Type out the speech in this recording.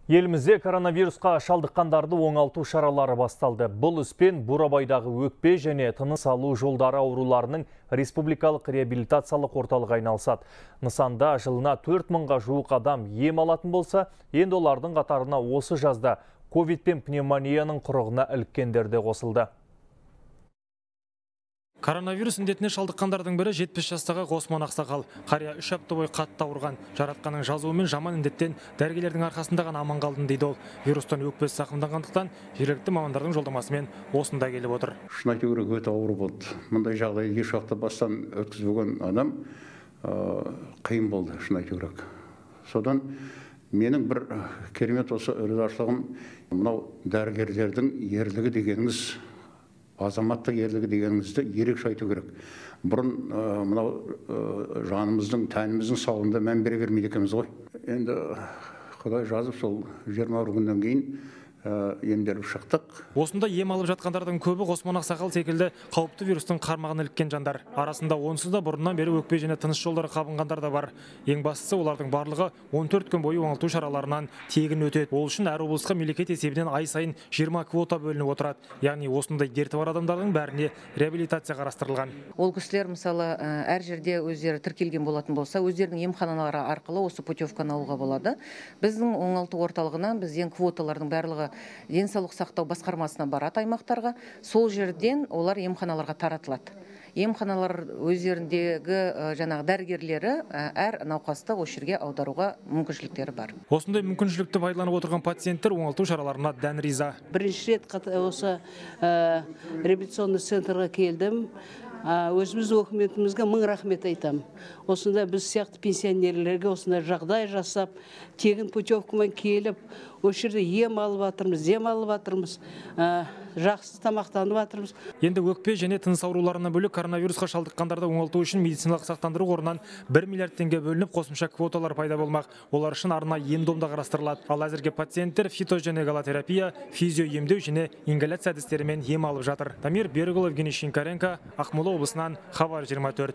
Елімізде коронавирусқа шалдыққандарды оңалту шаралары басталды. Бұл іспен Бурабайдағы өкпе және тыныс алу жолдары ауруларының республикалық реабилитациялық орталығы айналысады. Нысанда жылына 4000-ға жуық адам ем алатын болса, енді олардың қатарына осы жазда ковид пен пневмонияның құрығына іліккендер де қосылды. Коронавирус індетіне шалдыққандардың бірі 70 жастағы Ғосман Ақсақал. Қария 3 апта бойы қатты ауырған. Жаратқанның жазуымен жаман індеттен дәрігерлердің арқасында ғана аман қалдым дейді ол. Вирустан өкпесі зақымданғандықтан жергілікті мамандардың жолдамасымен осында келіп отыр. Шын айту керек, өте ауыр болды. Мұндай жағдайды еш уақытта бастан өткізбеген адам қиын болды, шын айту керек. Содан менің бір керемет осы ризашылығым, мынау дәрігерлердің ерлігі дегеніңіз, азаматтық ерлігі дегеніңізді ерекше айту керек. Бұрын мынау жанымыздың, тәніміздің саулығына мән бере бермейді екенбіз ғой. Енді Құдай жазып, сол 20 күннен кейін емделіп шықтық. Осында ем алып жатқандардың көбі Ғосман Ақсақал секілді қауіпті вирустың қармағына іліккен жандар. Арасында онсыз да бұрыннан бері өкпе және тыныс жолдары қабынғандар да бар. Ең бастысы, олардың барлығы 14 күн бойы оңалту шараларынан тегін өтеді. Ол үшін әр облысқа мемлекет есебінен ай сайын 20 квота бөлініп отырады. Яғни осындай дерті бар адамдардың бәріне реабилитация қарастырылған. Ол кісілер мысалы әр жерде өздері тіркелген болатын болса, өздерінің емханалары арқылы осы путевканы алуға болады. Біздің оңалту орталығынан бізден квоталардың барлығы денсаулық сақтау басқармасына барады аймақтарға. Сол жерден олар емханаларға таратылады. Емханалар өздеріндегі жаңағы дәрігерлері әр науқасты осы жерге аударуға мүмкіншіліктері бар. Осындай мүмкіншілікті пайдаланып отырған пациенттер оңалту шараларына дән риза. Бірінші рет осы реабилитационный центрға келдім. Өзіміз өкіметімізге мың рахмет айтам. Осында біз сияқты пенсионерлерге осында жағдай жасап, тегін путевкамен келіп, осы жерде ем алып жатырмыз, жақсы тамақтанып жатырмыз. Енді өкпе және тыныс ауруларына бөлек коронавирусқа шалдыққандарды оңалту үшін медициналық сақтандыру қорынан 1 миллиард теңге бөлініп, қосымша квоталар пайда болмақ. Олар үшін арнайы ем-домда қарастырылады. Ал әзірге пациенттер фитоженегалотерапия, физио емдеу және ингаляция әдістерімен ем алып жатыр. Дамир Берікұлы, Евгений Шинкаренко, Ақмола облысынан, Хабар 24.